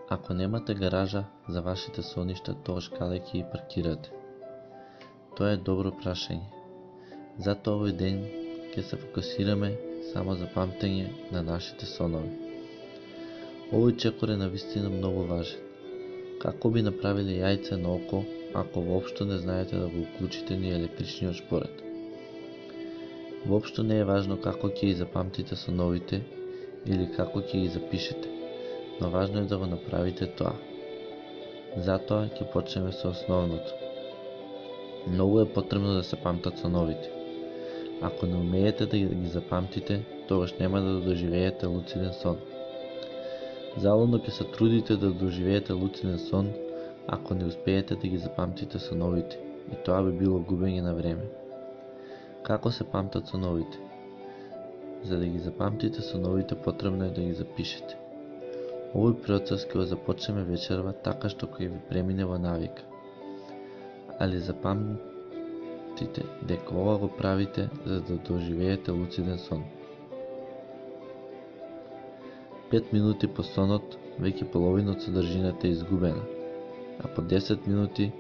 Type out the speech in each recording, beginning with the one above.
Ако немате гаража за вашите соништа, тогаш каде ќе ги паркирате? Тоа е добро прашање. Затоа овој ден ќе се фокусираме само за памтење на нашите сонови. Овој чекор е навистина многу важен. Како би направиле јајце на око ако воопшто не знаете да го уклучите ни електричниот шпоред? Воопшто не е важно како ќе ги запамтите соновите или како ќе ги запишете, но важно е да го направите тоа. Затоа ќе почнеме со основното. Многу е потребно да се памтат соновите. Ако не умеете да ги запамтите, тогаш нема да доживеете луциден сон. Залудно ќе се трудите да доживеете луциден сон ако не успеете да ги запамтите соновите, и тоа би било губење на време. Како се памтат соновите? За да ги запамтите соновите, потребно е да ги запишете. Овој процес ќе го започнеме вечерва, така што ќе ви премине во навика. Али запамтите дека ова го правите за да доживеете луциден сон. 5 минути по сонот, веќе половина од содржината е изгубена, а по 10 минути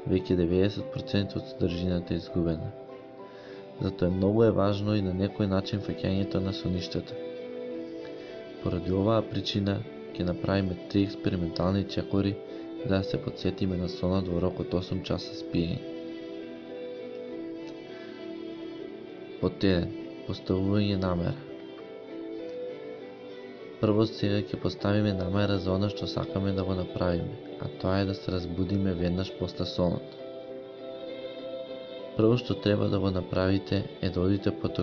веќе 90% од содржината е изгубена. Затоа многу е важно и на некој начин фаќањето на соништата. Поради оваа причина ќе направиме 3 експериментални чекори за да се потсетиме на сонот во рок од 8 часа спиење. Под 1. Поставување намера. Прво сега ќе поставиме намера за она што сакаме да го направиме, а тоа е да се разбудиме веднаш после сонот. Прво што треба да го направите е да одите пред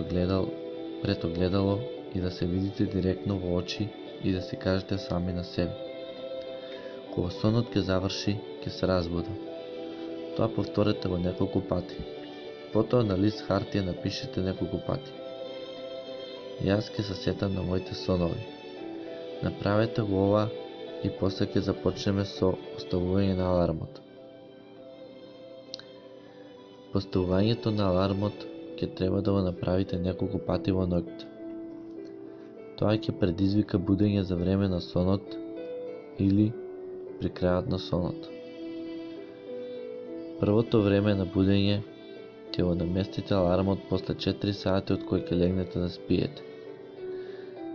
огледало и да се видите директно во очи и да се кажете сами на себе: кога сонот ќе заврши, ќе се разбудам. Тоа повторете го неколку пати. Потоа на лист хартија напишете неколку пати: јас ќе се сетам на моите сонови. Направете го ова и после ќе започнеме со поставување на алармот. Поставувањето на алармот ќе треба да го направите неколку пати во ноќта. Тоа ќе предизвика будење за време на сонот или при крајот на сонот. Првото време на будење ќе го наместите алармот после 4 сати од кои ќе легнете да спиете.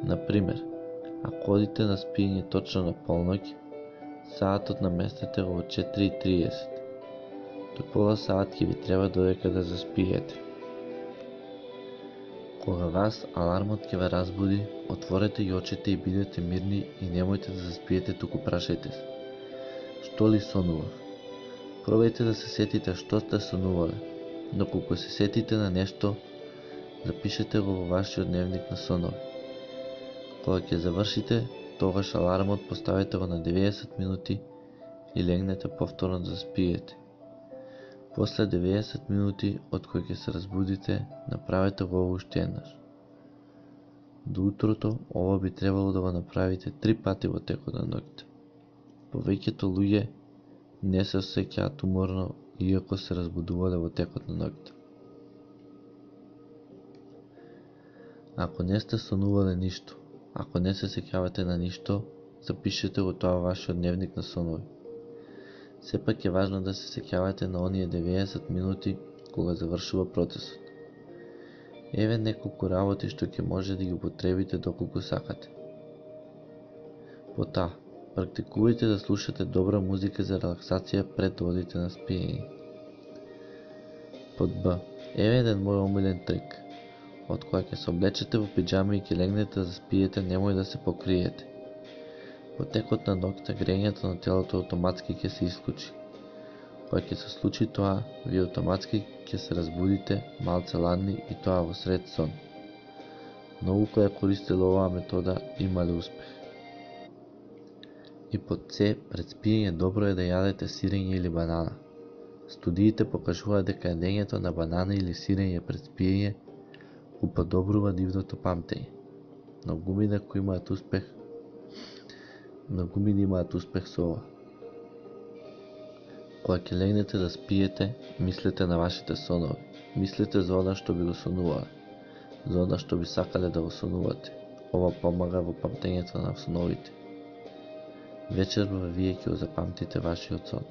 Например, ако одите на спиење точно на полноќ, саатот наместете го во 4:30. До пола саат ќе ви треба додека да заспиете. Кога вас алармот ќе ве разбуди, отворете ги очите и бидете мирни и немојте да заспиете, туку прашајте се: што ли сонував? Пробајте да се сетите што сте сонувале. Доколку се сетите на нешто, запишете го во вашиот дневник на сонови. Кога ќе завршите, тогаш алармот поставете го на 90 минути и легнете повторно да заспиете. После 90 минути од кои ќе се разбудите, направете го уште еднаш. До утрото ова би требало да го направите 3 пати во текот на ноќта. Повеќето луѓе не се осеќаат уморно иако се разбудувале во текот на ноќта. Ако не сте сонувале ништо, ако не се сеќавате на ништо, запишете го тоа во вашиот дневник на сонови. Сепак е важно да се сеќавате на оние 90 минути кога завршува процесот. Еве неколку работи што ќе може да ги употребите доколку сакате. Потоа, практикувајте да слушате добра музика за релаксација пред да одите на спиење. Под Б. Еве еден мој омилен трик. Од кога ќе се облечете во пиџами и ќе легнете да спиете, немој да се покриете. Во текот на ноќта грењето на телото автоматски ќе се исклучи. Кога ќе се случи тоа, вие автоматски ќе се разбудите малце ладни и тоа во сред сон. Многу кои ја користеле оваа метода имале успех. И под С, пред спиење добро е да јадете сирење или банана. Студиите покажуваат дека јадењето на банана или сирење пред спиење уподобрува нивното памтење. Многу мини имаат успех со ова. Кога ќе легнете да спиете, мислете на вашите сонови. Мислете за она што би го сонувале, за она што би сакале да го сонувате. Ова помага во памтењето на соновите. Вечерва вие ќе го запамтите вашиот сон.